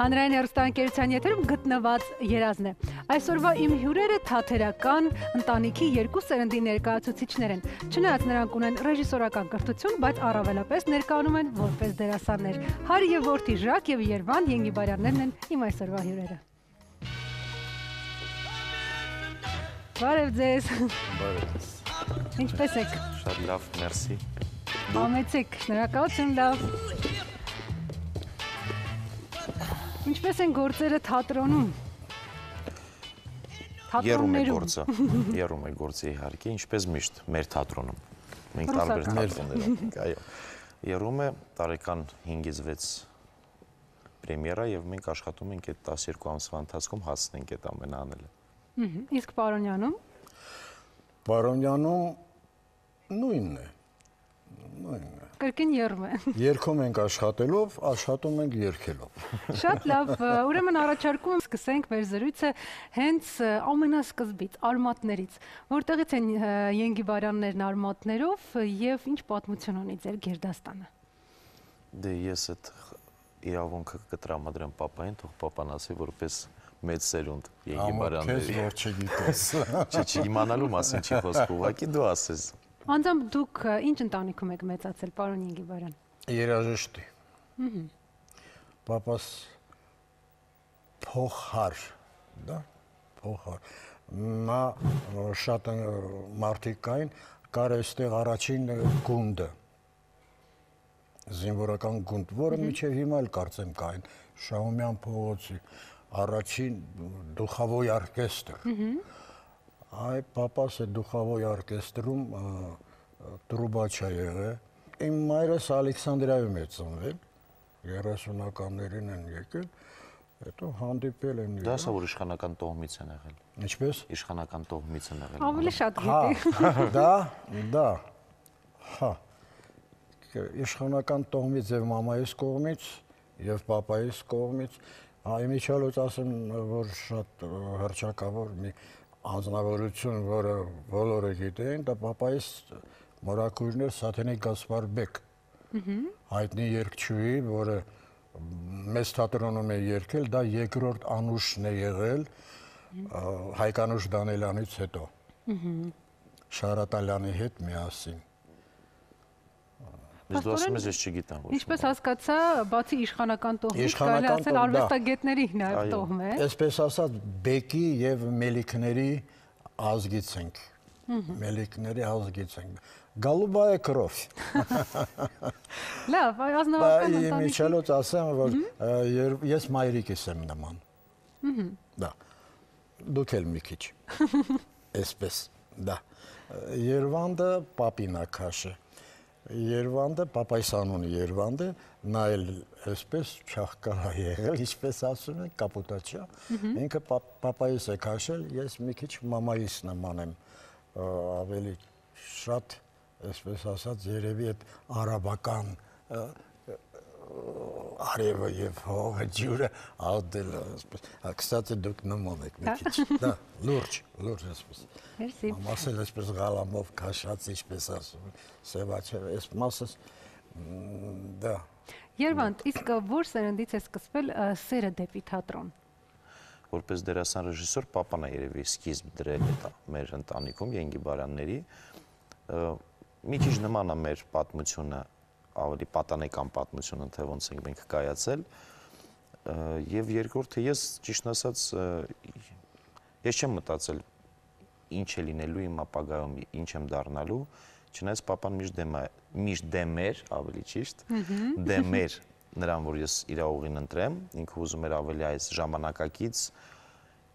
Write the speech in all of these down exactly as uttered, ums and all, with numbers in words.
Հանրային հեռուստաընկերության եթերում գտնված երազն է։ Այսօրվա իմ հյուրերը թատերական ընտանիքի երկու սերնդի ներկայացուցիչներ են։ Չնայած նրանք ունեն ռեժիսորական կրթություն, բայց առավելապես ներկայանում են որպես դերասաններ։ Հարի եւ որդի Ժակ եւ Երվանդ Ենգիբարյաններն են իմ այսօրվա հյուրերը։ Բարև ձեզ։ Բարև։ Ինչպե՞ս եք։ Շատ լավ, մերսի։ Համեցեք, շնորհակալություն, լավ։ Ինչպես են գործերը թատրոնում։ Երում է գործը, երում է գործը իհարկե, ինչպես միշտ մեր թատրոնում։ Մենք տարբեր թատրոններ ունենք, այո։ Երում է տարեկան հինգից վեց պրեմիերա եւ մենք աշխատում ենք այդ տասներկու ամսվա ընթացքում հասնենք այդ ամենը անելը։ Իսկ Պարոնյանում։ Պարոնյանում նույնն է։ Նույնն է։ Կրկին երում է։ Երգում ենք աշխատելով, աշխատում ենք երգելով։ Շատ լավ, ուրեմն առաջարկում եմ սկսենք մեր զրույցը հենց ամենասկզբից, արմատներից։ Որտեղից են Ենգիբարյաններն արմատներով եւ ինչ պատմություն ունի ձեր գերդաստանը։ Դե ես այդ իրավունքը կտրամադրեմ պապային, թող պապան ասի, որպես մեծ սերունդ Ենգիբարյանների։ Քեզ որ չգիտես։ Չէ, չիմանալու մասին չի խոսքը, ուղղակի դու ասես։ Անձամբ դուք ինչ ընտանիքում եք մեծացել, պարոն Ենգիբարյան։ Երաժշտի։ Պապաս փոխար, դա, փոխար։ Նա շատ մարդիկ կային, կար այստեղ առաջին գունդը, զինվորական գունդ, որը մինչև հիմա էլ կարծեմ կային, Շահումյան փողոցի առաջին դուխավոյ օրկեստր։ Այ պապաս է դուխավոյ օրկեստրում տրուբաչա եղել։ Իմ մայրս Ալեքսանդրիայում է ծնվել, երեսունականներին են եկել, հետո հանդիպել են։ Դա ասա, որ իշխանական տոհմից են եղել։ Ինչպես։ Իշխանական տոհմից են եղել։ Ավելի շատ գիտի։ Դա, դա, հա, իշխանական տոհմից եւ մամայիս կողմից եւ պապայիս կողմից, այմիջալոց ասեմ, որ շատ հռչակավոր մի անձնավորություն, որը բոլորը գիտեն, դա պապայիս մորաքույրն էր Սաթենիկ Գասպարբեկ, հայտնի երգչուհի, որը մեծ թատրոնում է երգել, դա երկրորդ անուշն է եղել Հայկանուշ Դանելյանից հետո, Շարատալյանի հետ միասին։ Ես դու ասում ես, ես չգիտեմ ոչ։ Ինչպես հասկացա, բացի իշխանական տոհմից կարելի ասել արվեստագետների նաև տոհմ է։ Այսպես ասած, Բեկի եւ Մելիքների ազգից ենք։ Մելիքների ազգից ենք։ Գալուբայե կրով։ Լավ, ազնվական ընտանիքի։ Միջելոց ասեմ, որ ես մայրիկիս եմ նման։ Դա։ Դուք էլ մի քիչ։ Այսպես, դա։ Երվանդը պապին ակաշը։ Երվանդը, պապայիս անունը Երվանդը, նա էլ այսպես չաղկարա եղել, ինչպես ասում են, կապուտաչա, ինքը պապայիս է քաշել, ես մի քիչ մամայիս նման եմ, ավելի շատ, այսպես ասած, երևի այդ արաբական արևը և հողը ջուրը աղդել, կստացի դուք նման եք մի քիչ, դա, լուրջ, լուրջ այսպես, ամասել այսպես գալամով կաշած, ինչպես ասում, սևաչև, այս մասս, դա։ Երվանդ, իսկ որ սերնդից է սկսվել սերը դեպի թատրոն։ Որպես դերասան ռեժիսոր, պապան է երևի սկիզբ դրել մեր ընտանիքում, Ենգիբարյանների, մի քիչ նման է մեր պատմությունը, ավելի պատանեկան պատմությունը, թե ոնց ենք մենք կայացել, եւ երկրորդը ես ճիշտ ասած ես չեմ մտածել ինչ է լինելու իմ ապագայում, ինչ եմ դառնալու, չնայած պապան միշտ դեմ է, միշտ դեմ էր, ավելի ճիշտ, դեմ էր նրան, որ ես իր ուղին ընտրեմ, ինքը ուզում էր ավելի այս ժամանակակից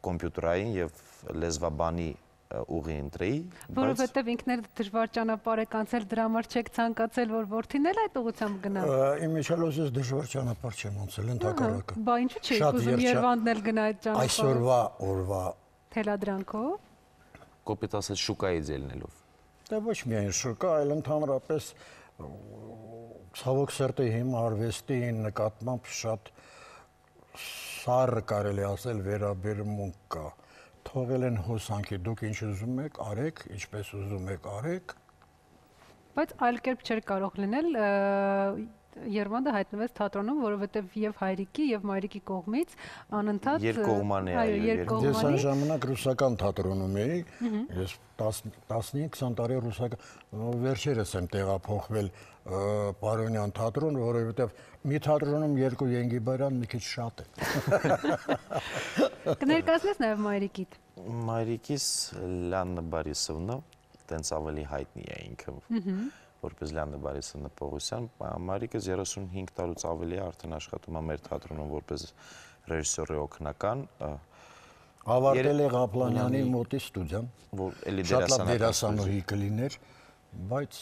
կոմպյուտերային եւ լեզվաբանի ուղի ընտրեի, որովհետև ինքն էլ դժվար ճանապարհ եք անցել, դրա համար չեք ցանկացել, որ որդին էլ այդ ուղղությամբ գնա։ Իմ միջալոց ես դժվար ճանապարհ չեմ անցել, ընդհակառակը։ Բա ինչու՞ չի ուզում Երվանդն էլ գնա այդ ճանապարհը։ Այսօրվա օրվա թելադրանքով։ Կոպիտ ասած շուկայից ելնելով։ Դա ոչ միայն շուկա, այլ ընդհանրապես ցավոք սրտի հիմա արվեստի նկատմամբ շատ սառը կարելի ասել վերաբերմունք կա։ Թողել են հոսանքի, դուք ինչ ուզում եք, արեք, ինչպես ուզում եք, արեք։ Բայց այլ կերպ չէր կարող լինել, Երվանդը հայտնվեց թատրոնում, որովհետև եւ հայրիկի եւ մայրիկի կողմից անընդհատ երկկողմանի, այո, երկկողմանի։ Ես այն ժամանակ ռուսական թատրոնում էի, ես տասնհինգ քսան տարի ռուսական վերջերս եմ տեղափոխվել Պարոնյան թատրոն, որովհետև մի թատրոնում երկու Ենգիբարյան մի քիչ շատ է։ Կներկայացնես նաև մայրիկիդ։ Մայրիկիս Լիաննա Բարիսովնա, տենց ավելի հայտնի է ինքը, որպես Լիաննա Բարիսովնա Պողոսյան, մայրիկս երեսունհինգ տարուց ավելի է արդեն աշխատում է մեր թատրոնում որպես ռեժիսորի օգնական։ Ավարտել է Ղապլանյանի մոտի ստուդիան, շատ լավ դերասանուհի կլիներ, բայց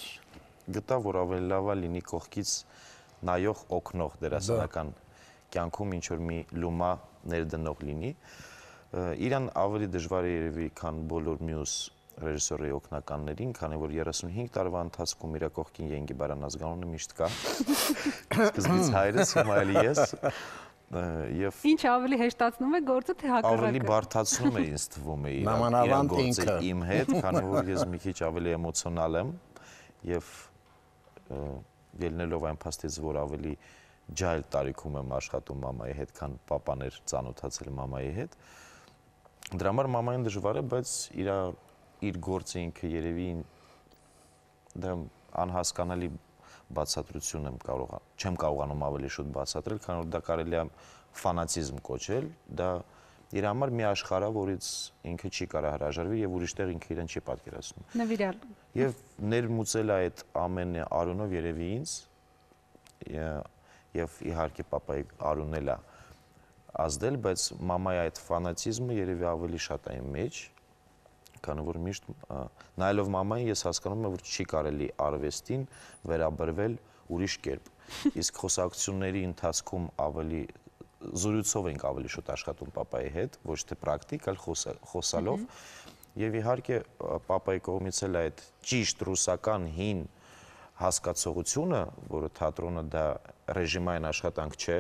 գտա, որ ավելի լավ է լինի կողքից նայող օգնող դերասանական կյանքում ինչ-որ մի լումա ներդնող լինի։ Իրան ավելի դժվար է երևի, քան բոլոր մյուս ռեժիսորի օգնականներին, քանի որ երեսունհինգ տարվա ընթացքում իր կողքին Ենգիբարյան ազգանունը միշտ կա։ Սկզբից հայրս, հիմա էլ ես։ Ինչ ավելի հեշտացնում է գործը, թե հակառակը։ Ավելի բարդացնում է ինձ թվում է իր գործը իմ հետ, քանի որ ես մի քիչ ավելի էմոցիոնալ եմ եւ ելնելով այն փաստից, որ ավելի ջահել տարիքում եմ աշխատում մամայի հետ, քան պապան էր ծանոթացել մամայի հետ։ Դրա համար մամային դժվար է, բայց իր իր գործը ինքը երևի դա անհասկանալի բացատրություն եմ կարող, չեմ կարողանում ավելի շուտ բացատրել, քանի որ դա կարելի է ֆանատիզմ կոչել, դա իր համար մի աշխարհ է, որից ինքը չի կարող հրաժարվել եւ ուրիշտեղ ինքը իրեն չի պատկերացնում։ Նվիրալ։ Եվ ներմուծել այդ ամենը Արոնով երևի ինձ եւ իհարկե պապայի Արոնն էլ է ազդել, բայց մամայի այդ ֆանատիզմը երևի ավելի շատ է իմ մեջ, քանի որ միշտ նայելով մամային ես հասկանում եմ, որ չի կարելի արվեստին վերաբերվել ուրիշ կերպ։ Իսկ խոսակցությունների ընթացքում ավելի զրույցով ենք ավելի շուտ աշխատում պապայի հետ, ոչ թե պրակտիկ, այլ խոսալով։ Եվ իհարկե պապայի կողմից էլ այդ ճիշտ ռուսական հին հասկացողությունը, որը թատրոնը դա ռեժիմային աշխատանք չէ,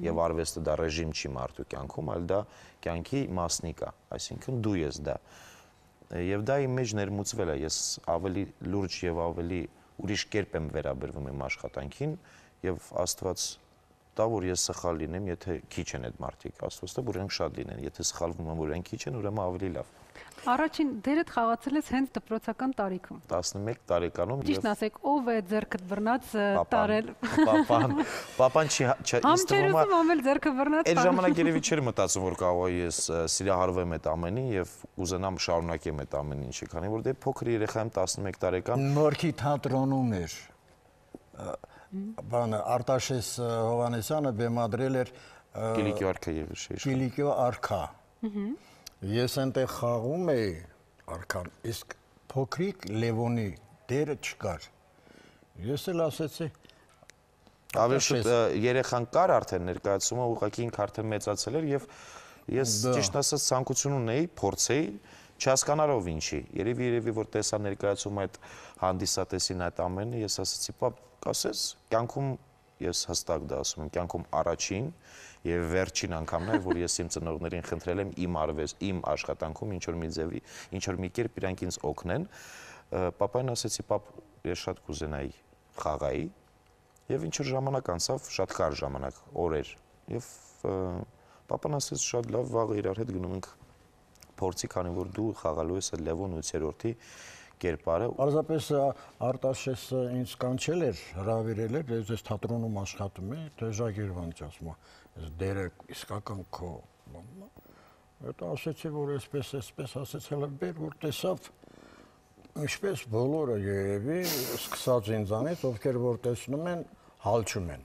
եւ արվեստը դա ռեժիմ չի մարդու կյանքում, այլ դա կյանքի մասնիկ է, այսինքն դու ես դա։ Եվ դա իմ մեջ ներմուծվել է, ես ավելի լուրջ եւ ավելի ուրիշ կերպ եմ վերաբերվում իմ աշխատանքին եւ Աստված տա, որ ես սխալ լինեմ, եթե քիչ են այդ մարդիկ, Աստված տա, որ իրենք շատ լինեն, եթե սխալվում եմ, որ իրենք քիչ են, ուրեմն ավելի լավ։ Առաջին դերդ խաղացել ես հենց դպրոցական տարիքում։ տասնմեկ տարեկանում եւ Ճիշտ ասեք, ով է ձեռքդ բռնած տարել։ Պապան, պապան չի ինձ թվում է ամել ձեռքը բռնած։ Այդ ժամանակ երևի չէր մտածում, որ կարող է ես սիրահարվեմ այդ ամենին եւ ուզենամ շարունակեմ այդ ամեն ինչը, քանի որ դե փոքր երեխա եմ տասնմեկ տարեկան։ Նորքի թատրոնում էր։ Բանը Արտաշես Հովանեսյանը բեմադրել էր Կիլիկիո արքա եւ շեյշ։ Կիլիկիո արքա։ Ես այնտեղ խաղում էի արքան, իսկ փոքրիկ Լևոնի դերը չկար։ Ես էլ ասեցի ավելի շուտ երեխան կար արդեն ներկայացումը ուղղակի ինքը արդեն մեծացել էր եւ ես ճիշտ ասած ցանկություն ունեի փորձեի չհասկանալով ինչի։ Երևի երևի որ տեսա ներկայացում այդ հանդիսատեսին այդ ամենը, ես ասացի, պապ, կասես, կյանքում ես հստակ դա ասում եմ, կյանքում առաջին եւ վերջին անգամն է, որ ես իմ ծնողներին խնդրել եմ իմ արվեստ, իմ աշխատանքում ինչ որ մի ձևի, ինչ որ մի կերպ իրանք ինձ օգնեն։ Պապային ասեցի, պապ, ես շատ կուզենայի խաղայի եւ ինչ որ ժամանակ անցավ, շատ կարճ ժամանակ, օրեր։ Եվ պապան ասեց, շատ լավ, վաղը իրար հետ գնում ենք փորձի, քանի որ դու խաղալու ես Լևոն ութերորդի կերպարը։ Պարզապես Արտաշեսը ինձ կանչել էր, հրավիրել էր, ես թատրոնում աշխատում եմ, Տեժագերվանց ասում եմ, ես դերը իսկական քո։ Հետո ասեցի, որ այսպես, այսպես ասեցել եմ, բեր, որ տեսավ, ինչպես բոլորը երևի, սկսած ինձանից, ովքեր որ տեսնում են, հալչում են։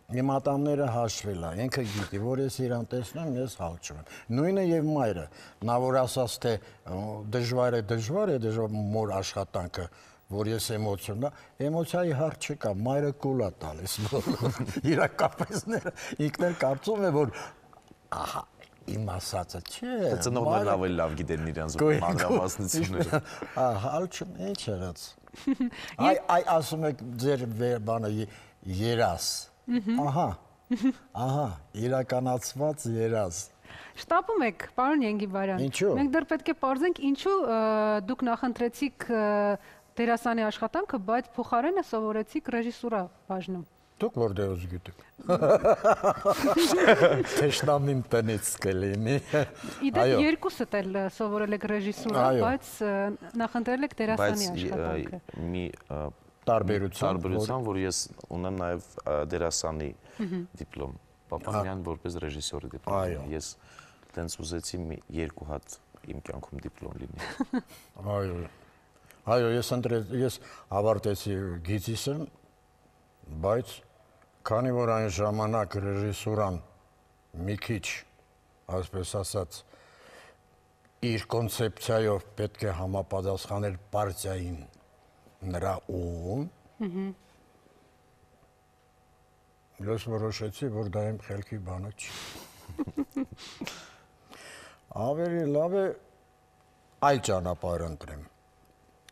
Իմ ատամները հաշվել է, ինքը գիտի, որ ես իրան տեսնում, ես հալչում եմ։ Նույնը եւ մայրը, նա որ ասաց, թե դժվար է, դժվար է, դժվար մոր աշխատանքը, որ ես էմոցիոն, էմոցիայի հարց չկա, մայրը կուլ է տալիս բոլոր իրակապեսները, ինքն էլ կարծում է, որ ահա, իմ ասածը չէ։ Ծնողներն ավելի լավ գիտեն իրանց մանրամասնությունները։ Հալչում, ինչ երած։ Այ ասում եք ձեր բանը երաս։ Ահա, ահա, իրականացված երազ։ Շտապում եք, պարոն Ենգիբարյան։ Ինչու։ Մենք դեռ պետք է պարզենք, ինչու դուք նախընտրեցիք դերասանի աշխատանքը, բայց փոխարենը սովորեցիք ռեժիսուրա բաժնում։ Դուք որտեղից գիտեք։ Թեշնամին տնից կլինի։ Իդեպ երկուսդ էլ սովորել եք ռեժիսուրա, բայց նախընտրել եք դերասանի աշխատանքը։ Բայց մի տարբերություն, տարբերություն, որ ես ունեմ նաև դերասանի դիպլոմ, պապան միայն որպես ռեժիսորի դիպլոմ։ Ես տենց ուզեցի մի երկու հատ իմ կյանքում դիպլոմ լինի։ Այո։ Այո, ես ընտրել, ես ավարտեցի գիծիսը, բայց քանի որ այն ժամանակ ռեժիսուրան մի քիչ, այսպես ասած, իր կոնցեպցիայով պետք է համապատասխաներ պարտիային նրա ուղուն, ես որոշեցի, որ դա իմ խելքի բանը չի։ Ավելի լավ է այլ ճանապարհ ընտրեմ։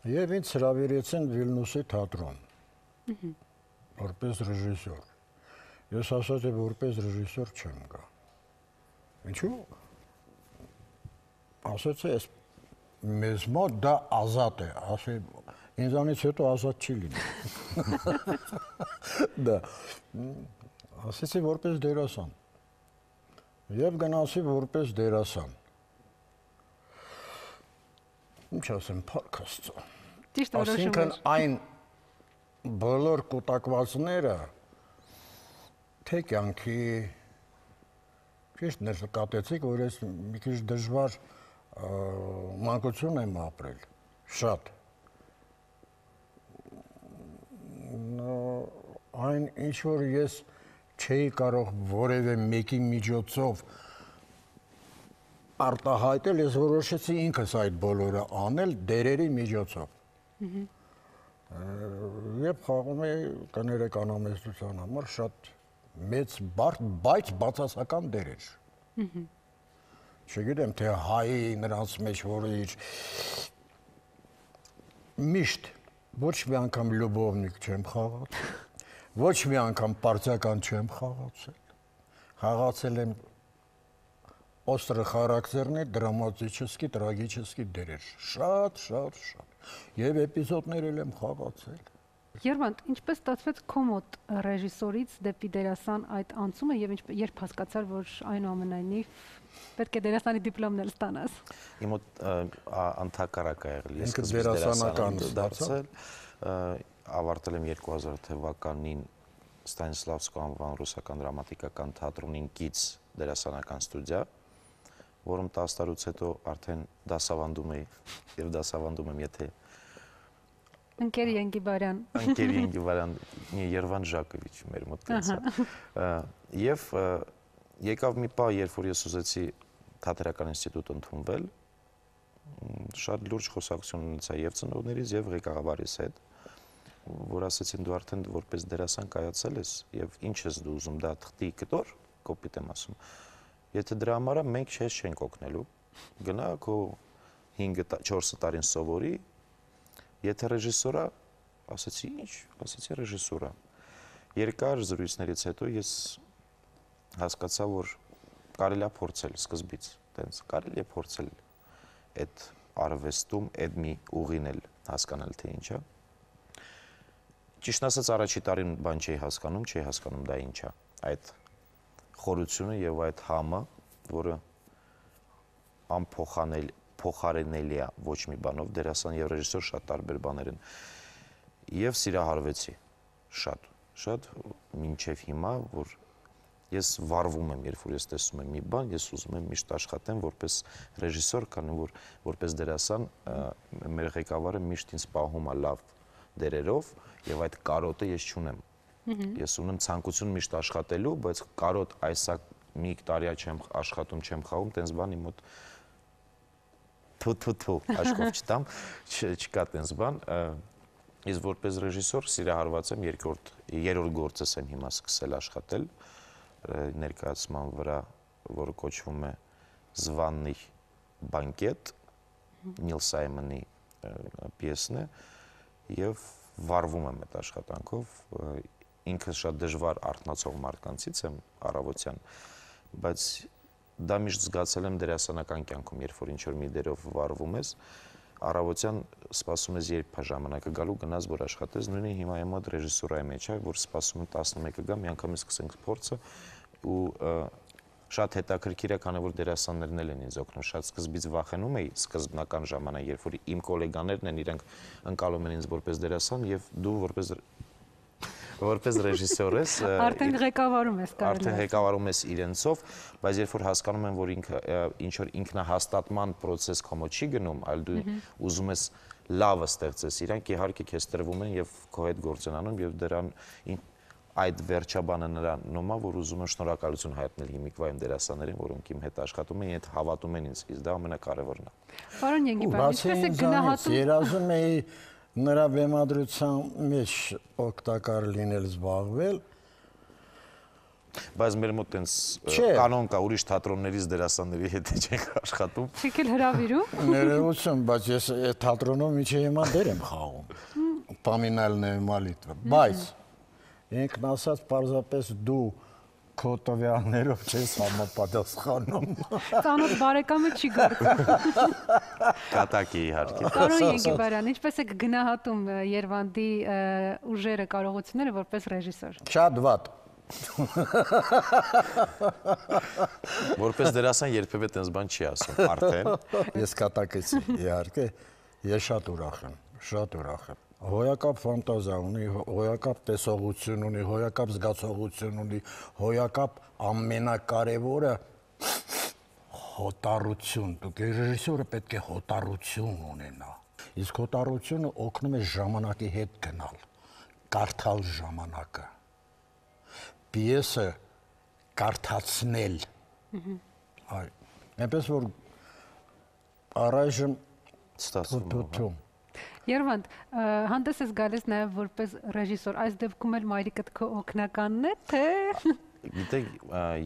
Եվ ինձ հրավիրեցին Վիլնյուսի թատրոն, որպես ռեժիսոր։ Ես ասացի, որպես ռեժիսոր չեմ գա։ Ինչու՞։ Ասացի, ես մեզ մոտ դա ազատ է, ասի, ինձանից հետո ազատ չի լինի։ Դա, ասեցի, որպես դերասան։ Եվ գնացի որպես դերասան։ Ինչ ասեմ, փառք Աստծո։ Ճիշտ որոշում էր։ Այսինքն այն բոլոր կուտակվածները թե կյանքի ճիշտ ներկատեցիք, որ ես մի քիչ դժվար մանկություն եմ ապրել, շատ։ Այն ինչ որ ես չէի կարող որևէ մեկի միջոցով արտահայտել, ես որոշեցի ինքս այդ բոլորը անել դերերի միջոցով։ Եվ խաղում էի կներեք անամեստության համար շատ մեծ բարդ, բայց բացասական դերեր։ Չգիտեմ, թե հայի նրանց մեջ, որը իր միշտ ոչ մի անգամ լյուբովնիկ չեմ խաղացել, ոչ մի անգամ պարտիական չեմ խաղացել, խաղացել եմ острый характерный, դրամատический, տրագический դերեր, շատ, շատ, շատ, և էպիզոդներ եմ խաղացել։ Երվանդ, ինչպես ստացվեց քո մոտ ռեժիսորից դեպի դերասան այդ անցումը և երբ հասկացար, որ այնուամենայնիվ պետք է դերասանի դիպլոմն էլ ստանաս։ Իմ մոտ ընդհակառակ ա եղել, ես սկզբից դերասանական դարձել, ավարտել եմ երկու հազար թվականին Ստանիսլավսկու անվան ռուսական դրամատիկական թատրոնին կից դերասանական ստուդիա, որում տասը տարուց հետո արդեն դասավանդում էի և դասավանդում եմ, եթե Ընկեր Ենգիբարյան։ Ընկեր Ենգիբարյան, Երվանդ Ժակովիչ մեր մոտ տենց։ Եվ եկավ մի պահ, երբ որ ես ուզեցի թատերական ինստիտուտ ընդունվել, շատ լուրջ խոսակցություն ունեցա և ծնողներիս, և ղեկավարիս հետ, որ ասեցին դու արդեն որպես դերասան կայացել ես և ինչ ես դու ուզում, դա թղթի կտոր, կոպիտ եմ ասում, եթե դրա համար մենք չես չենք օգնելու, գնա քո հինգ-չորս տարին սովորի, եթե ռեժիսորա, ասեցի ինչ, ասեցի ռեժիսորա, երկար զրույցներից հետո ես հասկացա, որ կարելի է փորձել սկզբից, տենց կարելի է փորձել այդ արվեստում, այդ մի ուղին էլ հասկանալ թե ինչ է։ Ճիշտն ասած առաջի տարին բան չէի հասկանում, չէի հասկանում դա ինչ է, այդ խորությունը և այդ համը, որը անփոխանել, փոխարենելի է ոչ մի բանով, դերասան և ռեժիսոր շատ տարբեր բաներ են, և սիրահարվեցի շատ, շատ մինչև հիմա, որ ես վարվում եմ, երբ որ ես տեսնում եմ մի բան, ես ուզում եմ միշտ աշխատեմ որպես ռեժիսոր, քանի որ որպես դերասան մեր ղեկավարը միշտ ինձ պահում է լավ դերերով և այդ կարոտը ես չունեմ։ Ես ունեմ ցանկություն միշտ աշխատելու, բայց կարոտ այսա մի տարիա չեմ աշխատում, չեմ խաղում, տենց բան իմ մոտ թու-թու-թու աշխով չտամ, չկա տենց բան։ Ես որպես ռեժիսոր սիրահարված եմ, երրորդ գործս եմ հիմա սկսել աշխատել ներկայացման վրա, որը կոչվում է Զվաննի բանկետ, Նիլ Սայմոնի պիեսն է, և վարվում եմ այդ աշխատանքով, ինքս շատ դժվար արթնացող մարդկանցից եմ առավոտյան, բայց դա միշտ զգացել եմ դերասանական կյանքում, երբ որ ինչ-որ մի դերով վարվում ես, առավոտյան սպասում ես երբ ժամանակը գալու գնաց որ աշխատես, նույնիսկ հիմա եմ մոտ ռեժիսուրայի մեջ է, որ սպասում եմ տասնմեկը գա, մի անգամ սկսենք փորձը ու շատ հետաքրքիր է, քանի որ դերասաններն են ինձ օգնում, շատ սկզբից վախենում էի սկզբնական ժամանակ, երբ որ իմ գոլեգաներն են, իրանք ընկալում են ինձ որպես դերասան եւ դու որպես որպես ռեժիսոր ես, արդեն ղեկավարում ես կարելի արդեն ղեկավարում ես իրենցով, բայց երբ որ հասկանում եմ, որ ինքը ինչ որ ինքնահաստատման process կոմո չի գնում, այլ դու ուզում ես լավը ստեղծես, իրանք իհարկե քեզ տրվում են եւ քո հետ գործ են անում եւ դրան այդ վերջաբանը նրանում է, որ ուզում եմ շնորհակալություն հայտնել հիմիկվա իմ դերասաններին, որոնք իմ հետ աշխատում են, իդ հավատում են ինձ, իսկ դա ամենակարևորն է։ Պարոն Ենգիբյան, ինչպես է գնահատում։ Երազում էի նրա բեմադրության մեջ օգտակար լինել, զբաղվել։ Բայց մեր մոտ տենց կանոն կա, ուրիշ թատրոններից դերասանների հետ չենք աշխատում։ Չեք էլ հրավիրում։ Ներողություն, բայց ես այդ թատրոնում ինչի հիմա դեր եմ խաղում։ Պամինալն է մալիտվա, բայց ինքն ասած պարզապես դու քո տվյալներով չես համապատասխանում։ Ծանոթ բարեկամը չի գործում։ Կատակի իհարկե։ Պարոն Ենգիբարյան, ինչպես եք գնահատում Երվանդի ուժերը, կարողությունները որպես ռեժիսոր։ Շատ վատ։ Որպես դերասան երբևէ տենց բան չի ասում, արդեն։ Ես կատակեցի, իհարկե, ես շատ ուրախ եմ, շատ ուրախ եմ։ Հոյակապ ֆանտազիա ունի, հոյակապ տեսողություն ունի, հոյակապ զգացողություն ունի, հոյակապ ամենակարևորը հոտառություն։ Դուք ռեժիսորը պետք է հոտառություն ունենա։ Իսկ հոտառությունը օգնում է ժամանակի հետ գնալ, կարդալ ժամանակը, պիեսը կարդացնել։ Այ, այնպես որ առայժմ ստացվում։ Երվանդ, հանդես ես գալիս նաև որպես ռեժիսոր, այս դեպքում էլ մայրիկդ քո օգնականն է, թե… Գիտեք,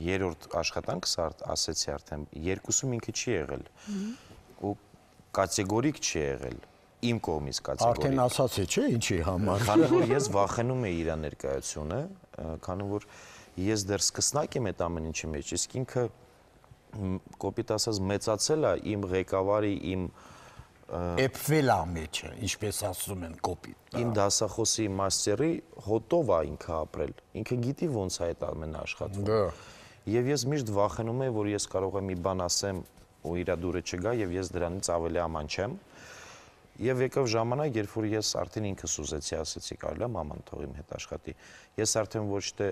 երրորդ աշխատանքս ասեցի արդեն, երկուսում ինքը չի եղել ու կատեգորիկ չի եղել, իմ կողմից կատեգորիկ։ Արդեն ասացի, չէ, ինչի համար։ Քանի որ ես վախենում էի իր ներկայությունը, քանի որ ես դեռ սկսնակ եմ այդ ամեն ինչի մեջ, իսկ ինքը կոպիտ ասած մեծացել է իմ ղեկավարի, իմ Էփվել է մեջը, ինչպես ասում են կոպիտ։ Իմ դասախոսի մաստերի հոտով է ինքը ապրել, ինքը գիտի ոնց է այդ ամենը աշխատվում։ Եվ ես միշտ վախենում եմ, որ ես կարող եմ մի բան ասեմ ու իրա դուրը չգա եւ ես դրանից ավելի աման չեմ։ Եվ եկավ ժամանակ, երբ որ ես արդեն ինքս ուզեցի, ասեցի կարելի է մաման թող իմ հետ աշխատի։ Ես արդեն ոչ թե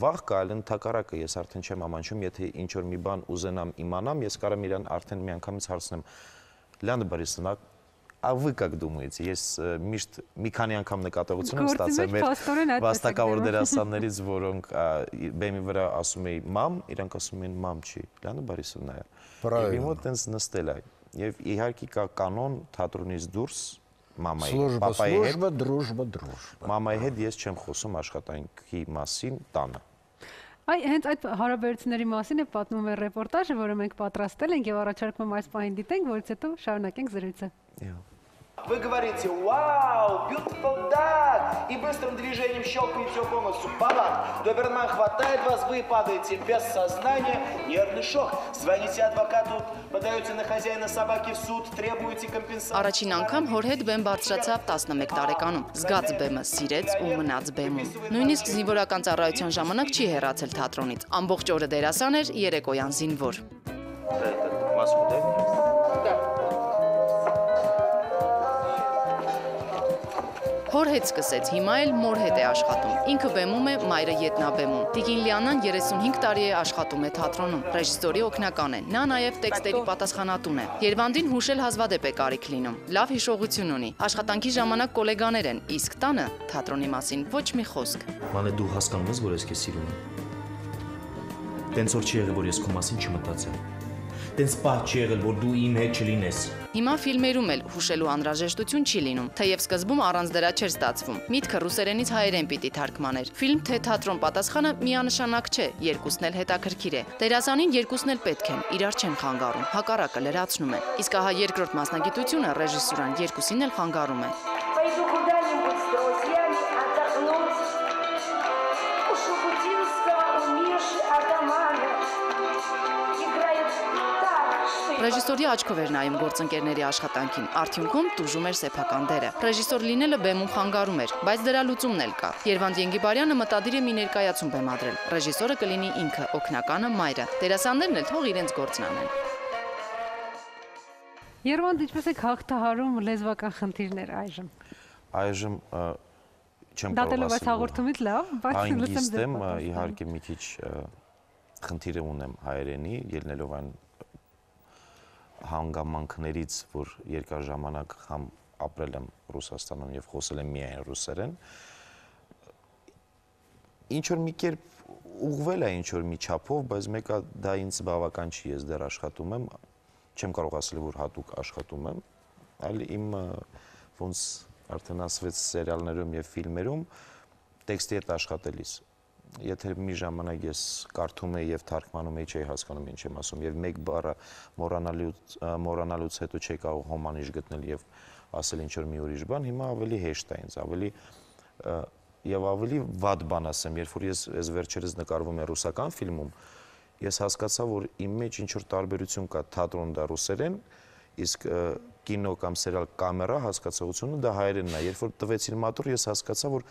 վախ կա, այլ ընդհակառակը ես արդեն չեմ ամանչում, եթե ինչ որ մի բան ուզենամ իմանամ, ես կարամ իրան արդեն միանգամից հարցնեմ. Լիանա Բորիսովна, а вы как думаете? Ես միշտ մի քանի անգամ նկատողություն եմ ստացել մեր վաստակավոր դերասաններից, որոնք բեմի վրա ասում էին մամ, իրանք ասում են մամ չի, Լիանա Բորիսովna է։ Եվ իմ մոտ տենց նստել է։ Եվ իհարկե կա կանոն թատրոնից դուրս մամայի, պապայի հետ։ Служба, дружба, дружба։ Մամայի հետ ես չեմ խոսում աշխատանքի մասին տանը։ Այ հենց այդ հարաբերությունների մասին է պատմում է ռեպորտաժը, որը մենք պատրաստել ենք եւ առաջարկում եմ այս պահին դիտենք, որից հետո շարունակենք զրույցը։ Вы говорите «Вау, beautiful dad!» и быстрым движением щелкаете его по носу. Баланс. Доберман хватает вас, вы падаете без сознания. Нервный шок. Звоните адвокату, подаете на хозяина собаки в суд, требуете компенсацию. Առաջին անգամ հոր հետ բեմ բարձրացավ տասնմեկ տարեկանում։ Զգաց բեմը սիրեց ու մնաց բեմում։ Նույնիսկ զինվորական ծառայության ժամանակ չի հեռացել թատրոնից։ Ամբողջ օրը դերասան էր, երեկոյան զինվոր։ Հոր հետ սկսեց, հիմա էլ մոր հետ է աշխատում։ Ինքը բեմում է, մայրը ետնաբեմում։ Տիկին Լիանան երեսունհինգ տարի է աշխատում է թատրոնում, ռեժիսորի օգնական է։ Նա նաև տեքստերի պատասխանատուն է։ Երվանդին հուշել հազվադեպ է կարիք լինում։ Լավ հիշողություն ունի։ Աշխատանքի ժամանակ գոլեգաներ են, իսկ տանը թատրոնի մասին ոչ մի խոսք։ Մանե դու հասկանում ես, որ ես քեզ սիրում եմ։ Տենց որ չի եղել, որ ես քո մասին չմտածեմ։ Տենց պահ չի եղել, որ դու իմ հետ չլինես։ Հիմա ֆիլմերում էլ հուշելու անհրաժեշտություն չի լինում, թեև սկզբում առանց դրա չէր ստացվում։ Միտքը ռուսերենից հայերեն պիտի թարգմաներ։ Ֆիլմ թե թատրոն պատասխանը միանշանակ չէ, երկուսն էլ հետաքրքիր է։ Դերասանին երկուսն էլ պետք են, իրար չեն խանգարում, հակառակը լրացնում են։ Իսկ ահա երկրորդ մասնագիտությունը ռեժիսուրան երկուսին էլ խանգարում է։ Ռեժիսորի աչքով էր նայում գործընկերների աշխատանքին, արդյունքում տուժում էր սեփական դերը։ Ռեժիսոր լինելը բեմում խանգարում էր, բայց դրա լուծումն էլ կա։ Երվանդ Ենգիբարյանը մտադիր է մի ներկայացում բեմադրել։ Ռեժիսորը կլինի ինքը, օգնականը մայրը։ Դերասաններն էլ թող իրենց գործն անեն։ Երվանդ, ինչպես եք հաղթահարում լեզվական խնդիրներ այժմ։ Այժմ չեմ Դատելով այս հաղորդումից լավ, բայց հանգիստ եմ, իհարկե մի քիչ խնդիր ունեմ հայերենի, ելնելով այն հանգամանքներից, որ երկար ժամանակ համ ապրել եմ Ռուսաստանում եւ խոսել եմ միայն ռուսերեն։ Ինչ որ մի կերպ ուղղվել է ինչ որ մի չափով, բայց մեկը դա ինձ բավական չի, ես դեռ աշխատում եմ, չեմ կարող ասել, որ հատուկ աշխատում եմ, այլ իմ ոնց արդեն ասվեց սերիալներում եւ ֆիլմերում տեքստի հետ աշխատելիս։ Եթե մի ժամանակ ես կարդում եի եւ թարգմանում եի, չէի հասկանում ինչ եմ ասում եւ մեկ բառը մոռանալուց մոռանալուց հետո չէի կարող հոմանիշ գտնել եւ ասել ինչ որ մի ուրիշ բան, հիմա ավելի հեշտ է ինձ, ավելի եւ ավելի վատ բան ասեմ, երբ որ ես այս վերջերս նկարվում եմ ռուսական ֆիլմում, ես հասկացա, որ իմ մեջ ինչ որ տարբերություն կա թատրոն դա ռուսերեն, իսկ կինո կամ սերիալ կամերա հասկացողությունը դա հայերենն է, երբ որ տվեցին մատուր, ես հասկացա, որ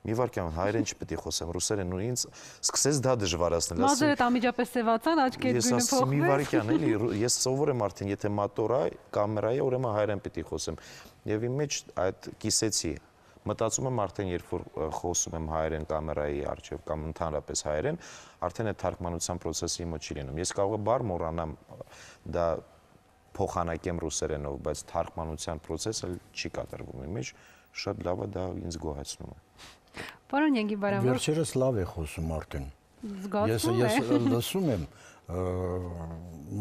մի վարքյան հայերեն չպետք է խոսեմ, ռուսերեն ու ինձ սկսեց դա դժվարացնել։ Մազերդ անմիջապես սևացան, աչքերդ գույնը փոխվեց։ Ես ասում մի վարքյան էլի, ես սովոր եմ արդեն, եթե մատորա, կամերա է, ուրեմն հայերեն պետք է խոսեմ։ Եվ իմ մեջ այդ կիսեցի։ Մտածում եմ արդեն, երբ որ խոսում եմ հայերեն կամերայի առջև կամ ընդհանրապես հայերեն, արդեն այդ թարգմանության process-ը իմը չի լինում։ Ես կարող եմ բառ մոռանամ, դա փոխանակեմ ռուսերենով, բայց թարգմանության process-ը չի կատարվում իմ մեջ, շատ լավ է, դա ինձ գոհացնում է։ Պարոն Ենգիբարյան, վերջերս լավ է խոսում արդեն։ Զգացվում է։ Ես լսում եմ,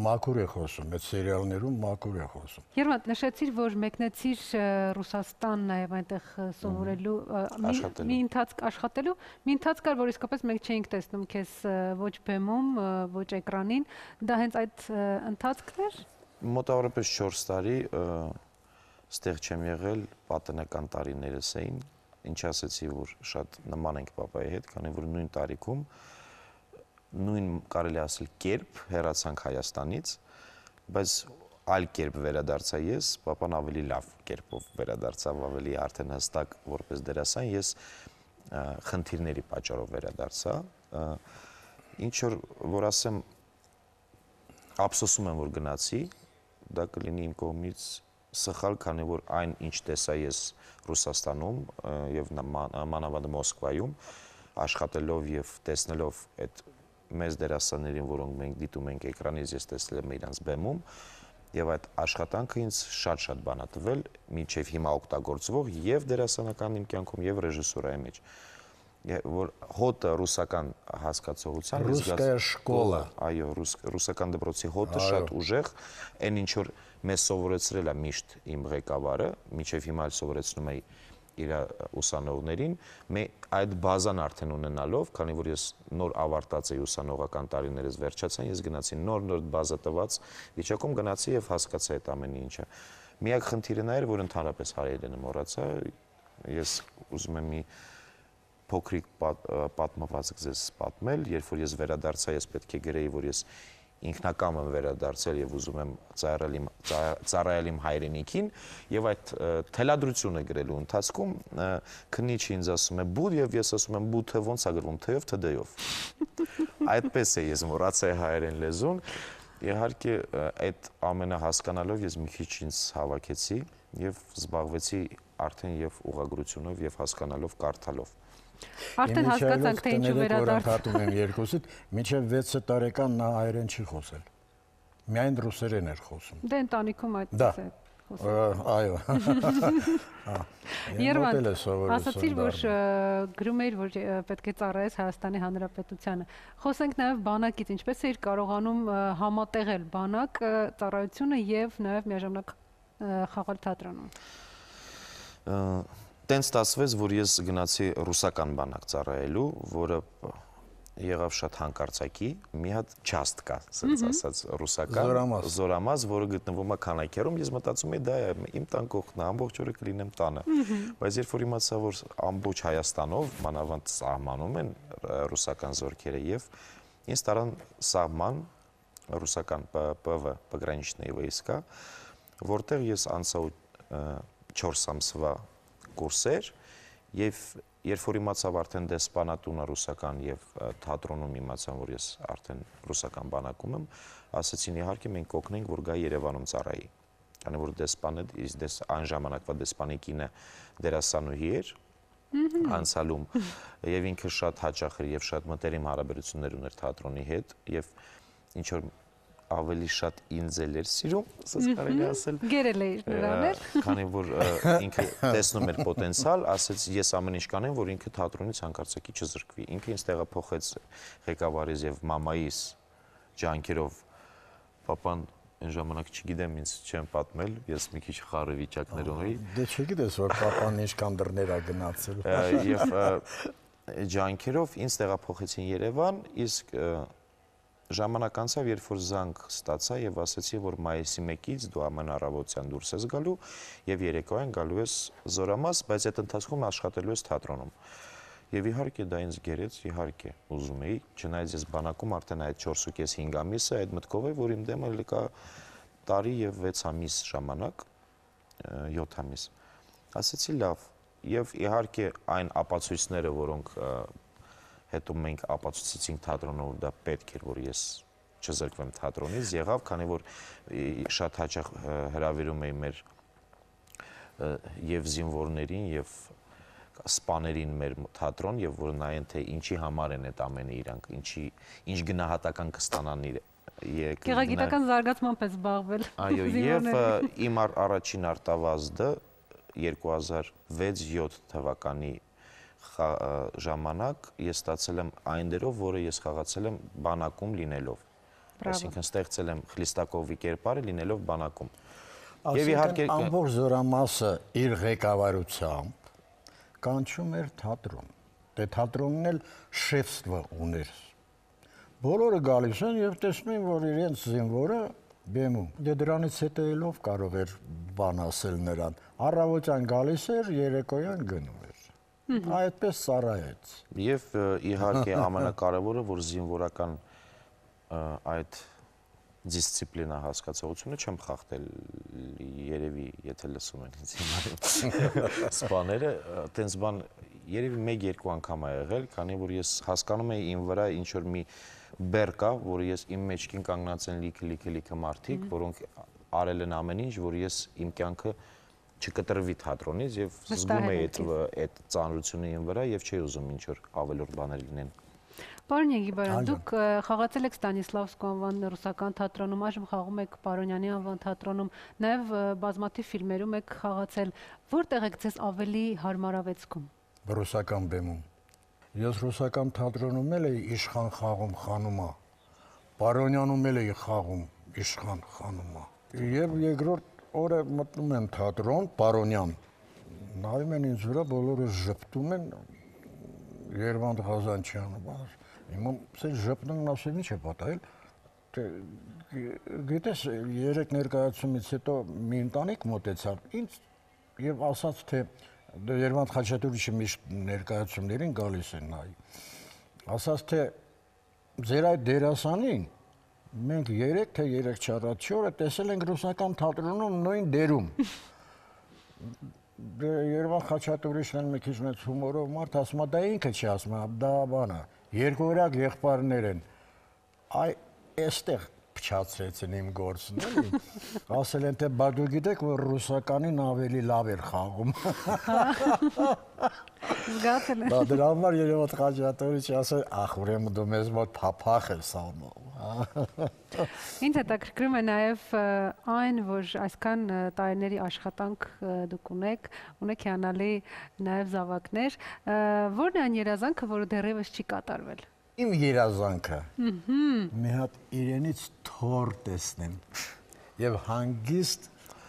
մաքուր է խոսում, այդ սերիալներում մաքուր է խոսում։ Երվանդ, նշեցիր, որ մեկնեցիր Ռուսաստան նաև այնտեղ սովորելու, մի ընթացք աշխատելու, մի ընթացք կար, որ իսկապես մենք չէինք տեսնում քեզ ոչ բեմում, ոչ էկրանին, դա հենց այդ ընթացքն էր։ Մոտավորապես չորս տարի ստեղ չեմ եղել, պատանեկան տարիներս էին, ինչ ասեցի, որ շատ նման ենք պապայի հետ, քանի որ նույն տարիքում նույն կարելի ասել կերպ հեռացանք Հայաստանից, բայց այլ կերպ վերադարձա ես, պապան ավելի լավ կերպով վերադարձավ, ավելի արդեն հստակ որպես դերասան, ես խնդիրների պատճառով վերադարձա, ինչ որ որ ասեմ ափսոսում եմ, որ գնացի, դա կլինի իմ կողմից սխալ, քանի որ այն ինչ տեսա ես Ռուսաստանում եւ մանավանդ Մոսկվայում աշխատելով եւ տեսնելով այդ մեծ դերասաններին, որոնք մենք դիտում ենք էկրանից, ես տեսել եմ իրանց բեմում եւ այդ աշխատանքը ինձ շատ-շատ բան է տվել, մինչեւ հիմա օգտագործվող եւ դերասանական իմ կյանքում եւ ռեժիսուրայի մեջ, որ հոտը ռուսական հասկացողության ռուսская շկոլա, այո, ռուսական դպրոցի հոտը շատ ուժեղ, այն ինչ որ մեզ սովորեցրել է միշտ իմ ղեկավարը, մինչեւ հիմա էլ սովորեցնում է իր ուսանողներին, այդ բազան արդեն ունենալով, քանի որ ես նոր ավարտած էի ուսանողական տարիներս վերջացան, ես գնացի նոր-նոր բազա տված վիճակում գնացի եւ հասկացա այդ ամեն ինչը։ Միակ խնդիրը նա էր, որ ընդհանրապես հայերենը մոռացա, ես ուզում եմ մի փոքրիկ պատմվածք ձեզ պատմել, երբ որ ես վերադարձա, ես պետք է գրեի, որ ես ինքնակամ եմ վերադարձել եւ ուզում եմ ծառայել իմ հայրենիքին եւ այդ թելադրությունը գրելու ընթացքում քննիչը ինձ ասում է բուդ եւ ես ասում եմ բուդը ոնց է գրվում թ-ով թ-դով այդպես է ես մոռացա հայերեն լեզուն իհարկե այդ ամենը հասկանալով ես մի քիչ ինձ հավաքեցի եւ զբաղվեցի արդեն եւ ուղղագրությունով եւ հասկանալով կարդալով Արդեն հասկացանք, թե ինչու վերադարձ։ Հատում եմ երկուսիդ, մինչև վեց տարեկան նա հայերեն չի խոսել։ Միայն ռուսերեն էր խոսում։ Դե ընտանիքում այդպես է խոսում։ Այո։ Երվանդ, ասացիր, որ գրում էիր, որ պետք է ծառայես Հայաստանի Հանրապետությանը։ Խոսենք նաև բանակից, ինչպես էիր կարողանում համատեղել բանակ ծառայությունը եւ նաև միաժամանակ խաղալ թատրոնում։ Տենց ստացվեց, որ ես գնացի ռուսական բանակ ծառայելու, որը եղավ շատ հանկարծակի, մի հատ չաստ կա, ասած ասած ռուսական, զորամազ, որը գտնվում է Քանաքերում, ես մտածում եի դա է, իմ տան կողքն է, ամբողջ օրը կլինեմ տանը, բայց երբ որ իմացա, որ ամբողջ Հայաստանով, մանավանդ սահմանում են ռուսական զորքերը եւ ինձ տարան սահման ռուսական Պ V пограничная войска, որտեղ ես անցա չորս ամսվա կուրսեր եւ երբ որ իմացավ արդեն դեսպանատունը ռուսական եւ թատրոնում իմացան, որ ես արդեն ռուսական բանակում եմ, ասացին իհարկե մենք կօգնենք, որ գա Երևանում ծառայի։ Քանի որ դեսպանը դες այն ժամանակվա դեսպանի կինը դերասանուհի էր անցալում եւ ինքը շատ հաճախ էր եւ շատ մտերիմ հարաբերություններ ուներ թատրոնի հետ եւ ինչ որ ավելի շատ ինձ էր սիրում, ասես կարելի ասել։ Գերել էիր նրան էլ։ Քանի որ ինքը տեսնում էր պոտենցիալ, ասեց ես ամեն ինչ կանեմ, որ ինքը թատրոնից հանկարծակի չզրկվի։ Ինքը ինձ տեղափոխեց ղեկավարից եւ մամայիս ջանքերով papan այն ժամանակ չգիտեմ, ինձ չեմ պատմել, ես մի քիչ խառը վիճակներում էի։ Դե չգիտես, որ papan ինչքան դռներ ա գնացել։ Եվ ջանքերով ինձ տեղափոխեցին Երևան, իսկ ժամանակ անցավ, երբ որ զանգ ստացա եւ ասացի, որ մայիսի մեկից դու ամեն առավոտյան դուրս ես գալու եւ երեկոյան գալու ես Զորամաս, բայց այդ ընթացքում աշխատելու ես թատրոնում։ Եվ իհարկե դա ինձ գերեց, իհարկե ուզում էի, չնայած ես բանակում արդեն այդ չորսուկես հինգ ամիսը այդ մտքով է, որ իմ դեմը ելի կա տարի եւ վեց ամիս ժամանակ, յոթ ամիս։ Ասացի լավ, եւ իհարկե այն ապացույցները, որոնք հետո մենք ապացուցեցինք թատրոնով, դա պետք էր, որ ես չզրկվեմ թատրոնից, եղավ, քանի որ շատ հաճախ հրավիրում էի մեր եւ զինվորներին եւ սպաներին մեր թատրոն եւ որ նայեն թե ինչի համար են այդ ամենը իրանք, ինչի ինչ գնահատական կստանան իր Գեղագիտական զարգացմամբ է զբաղվել։ Այո, եւ իմ առաջին արտավազդը երկու հազար վեց յոթ թվականի ժամանակ ես ստացել եմ այն դերով, որը ես խաղացել եմ բանակում լինելով։ Այսինքն ստեղծել եմ Խլիստակովի կերպարը լինելով բանակում։ Եվ իհարկե ամբողջ Զորամասը իր ղեկավարությամբ կանչում էր թատրոն։ Դե թատրոնն էլ շեֆստվը ուներ։ Բոլորը գալիս են եւ տեսնում են, որ իրենց զինվորը բեմում։ Դե դրանից հետեելով կարող էր բան ասել նրան։ Առավոտյան գալիս էր, երեկոյան գնում էր։ Այդպես ծառայեց։ Եվ իհարկե ամենակարևորը, որ զինվորական այդ դիսցիպլինա հասկացողությունը չեմ խախտել երևի եթե լսում են ինձ հիմա սպաները տենց բան երևի մեկ-երկու անգամ ա եղել, քանի որ ես հասկանում եի իմ վրա ինչ որ մի բեռ կա, որ ես իմ մեջքին կանգնած են լիքը-լիքը-լիքը մարդիկ, որոնք արել են ամեն ինչ, որ ես իմ կյանքը չկտրվի թատրոնից եւ զգում եի այդ ծանրությունը իմ վրա եւ չէի ուզում ինչ որ ավելորդ բաներ լինեն։ Պարոն Եգիբարյան, դուք խաղացել եք Ստանիսլավսկու անվան ռուսական թատրոնում, այժմ խաղում եք Պարոնյանի անվան թատրոնում, նաև բազմաթիվ ֆիլմերում եք խաղացել։ Որտեղ եք ձեզ ավելի հարմարավեցքում։ Ռուսական բեմում։ Ես ռուսական թատրոնում էլ էի իշխան խաղում Խանումա։ Պարոնյանում էլ էի խաղում իշխան Խանումա։ Եվ երկրորդ օրը մտնում եմ թատրոն Պարոնյան։ Նայում են ինձ վրա, բոլորը ժպտում են Երվանդ Ղազանչյանը։ Հիմա սա ժպտում ասել ինչ է պատահել։ Գիտես, երեք ներկայացումից հետո մի ընտանիք մոտեցավ ինձ եւ ասաց թե Երվանդ Խաչատուրիչի միշտ ներկայացումներին գալիս են նայ։ Ասաց թե ձեր այդ դերասանին մենք երեք թե երեք-չորդ օրը տեսել ենք ռուսական թատրոնում նույն դերում։ Երևան Խաչատուրիչն մի քիչ մեծ հումորով մարդ ասում է, դա ինքը չի ասում, դա բանը, երկօրյակ եղբայրներ են, այ այստեղ փչացրեցին իմ գործն էլի, ասել են, թե բա դու գիտեք, որ ռուսականին ավելի լավ էր խաղում։ Զգացել եմ։ Դա դրա համար Երևան Խաչատուրիչը ասել, ախ, ուրեմն դու մեզ մոտ փափախ ես անում։ Ինձ հետաքրքրում է նաև այն, որ այսքան տարիների աշխատանք դուք ունեք, ունեք հիանալի նաև զավակներ, որն է այն երազանքը, որը դեռևս չի կատարվել։ Իմ երազանքը մի հատ իրենից թոր տեսնեմ եւ հանգիստ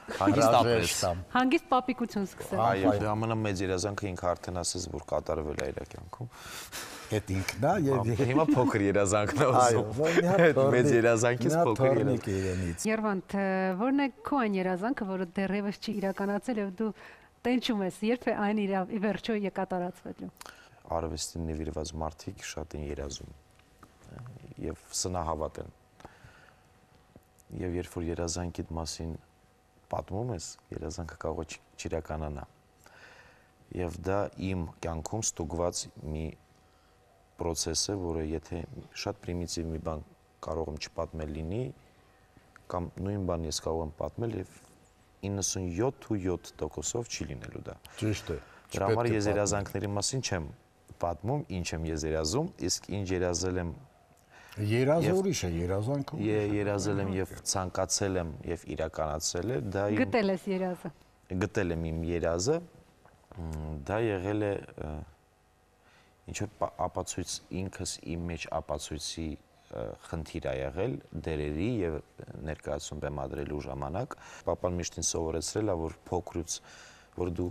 հանգիստ ապրես։ Հանգիստ պապիկություն սկսել։ Այո, ամենամեծ երազանքը ինքը արդեն ասես, որ կատարվել է իր կյանքում։ Այդ ինքն է եւ հիմա փոքր երազանքն է ուզում։ Այդ մեծ երազանքից փոքր իրենից։ Երվանդ, որն է քո այն երազանքը, որը դեռևս չի իրականացել եւ դու տենչում ես, երբ է այն ի վերջո կատարածվելու։ Արվեստին նվիրված մարդիկ շատ են երազում եւ սնահավատ են։ Եվ երբ որ երազանքիդ մասին պատմում ես, երազանքը կարող է չիրականանա։ Եվ դա իմ կյանքում ստուգված մի պրոցես է, որը եթե շատ պրիմիտիվ մի բան կարող եմ չպատմել լինի, կամ նույն բան ես կարող եմ պատմել եւ իննսունյոթ ու յոթ տոկոսով չի լինելու դա։ Ճիշտ է։ Դրա համար ես երազանքների մասին չեմ պատմում, ինչ եմ ես երազում, իսկ ինչ երազել եմ Երազը ուրիշ է, երազանքը ուրիշ է։ Երազել եմ եւ ցանկացել եմ եւ իրականացել է, դա իմ Գտել ես երազը։ Գտել եմ իմ երազը, դա եղել է ինչ որ ապացույց ինքս իմ մեջ ապացույցի խնդիր ա եղել դերերի եւ ներկայացում բեմադրելու ժամանակ papan միշտ ինձ սովորեցրել ա որ փոքրուց որ դու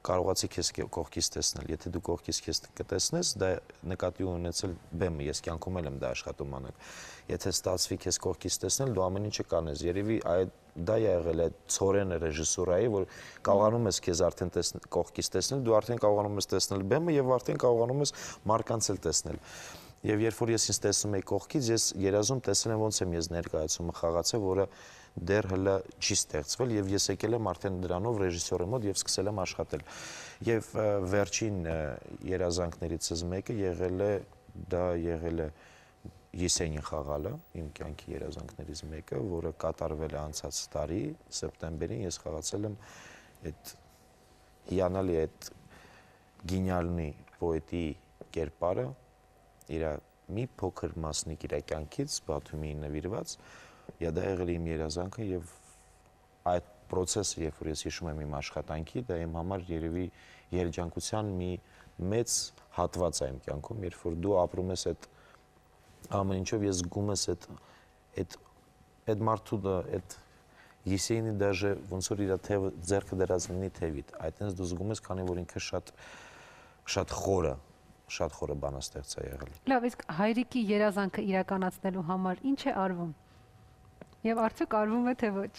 կարողացի քեզ կողքից տեսնել եթե դու կողքից քեզ կտեսնես դա նկատի ունեցել բեմը ես կյանքում եմ դա աշխատում անել եթե ստացվի քեզ կողքից տեսնել դու ամեն ինչը կանես երևի այդ դա եղել է ծորենը ռեժիսուրայի որ կարողանում ես քեզ արդեն տեսնել կողքից տեսնել դու արդեն կարողանում ես տեսնել բեմը եւ արդեն կարողանում ես մարկանց էլ տեսնել Եվ երբ որ ես ինձ տեսնում եի կողքից, ես երազում տեսել եմ ոնց եմ ես ներկայացումը խաղացել, որը դեռ հլը չի ստեղծվել եւ ես եկել եմ արդեն դրանով ռեժիսորի մոտ եւ սկսել եմ աշխատել։ Եվ վերջին երազանքներիցս մեկը եղել է դա եղել է Եսենին խաղալը, իմ կյանքի երազանքներից մեկը, որը կատարվել է անցած տարի սեպտեմբերին, ես խաղացել եմ այդ հիանալի այդ գինյալնի պոետի կերպարը իր մի փոքր մասնիկ իր կյանքից Բաթումիին նվիրված, եւ դա եղել է իմ երազանքը եւ այդ process-ը, երբ որ ես հիշում եմ իմ աշխատանքի, դա իմ համար երևի երջանկության մի մեծ հատված է իմ կյանքում, երբ որ դու ապրում ես այդ ամեն ինչով ես զգում ես այդ այդ այդ մարդու այդ Եսենի դաժե ոնց որ իր թևը ձեռքը դրած լինի թևիդ, այդտենց դու զգում ես, քանի որ ինքը շատ շատ խորը շատ խորը բանաստեղծ է եղել։ Լավ, իսկ հայրիկի երազանքը իրականացնելու համար ինչ է արվում։ Եվ արդյոք արվում է թե ոչ։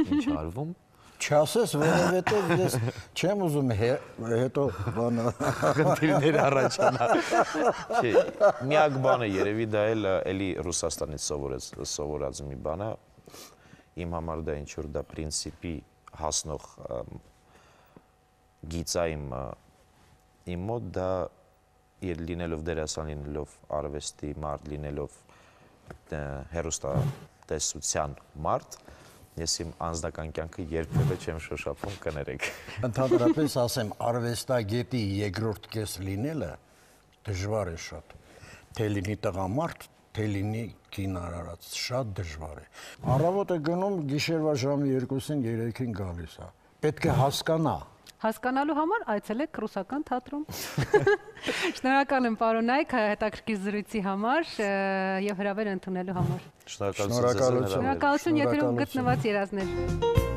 Ինչ արվում։ Չասես, որովհետև ես չեմ ուզում հետո բանը խնդիրներ առաջանա։ Չէ, միակ բանը երևի դա էլ էլի Ռուսաստանից սովորած սովորած մի բան է։ Իմ համար դա ինչ որ դա պրինցիպի հասնող գիծայիմ իմ մոտ դա իր լինելով դերասան լինելով արվեստի մարդ լինելով հեռուստատեսության մարդ ես իմ անձնական կյանքը երբևէ չեմ շոշափում կներեք Ընդհանրապես ասեմ արվեստագետի երկրորդ կես լինելը դժվար է շատ թե լինի տղամարդ թե լինի կինարարած շատ դժվար է առավոտ է գնում գիշերվա ժամը երկուսին երեքին գալիս է պետք է հասկանա Հասկանալու համար այցելեք ռուսական թատրոն։ Շնորհակալ եմ պարոն Նայք հետաքրքիր զրույցի համար եւ հրավեր ընդունելու համար։ Շնորհակալություն։ Շնորհակալություն եթերում գտնված երազներ։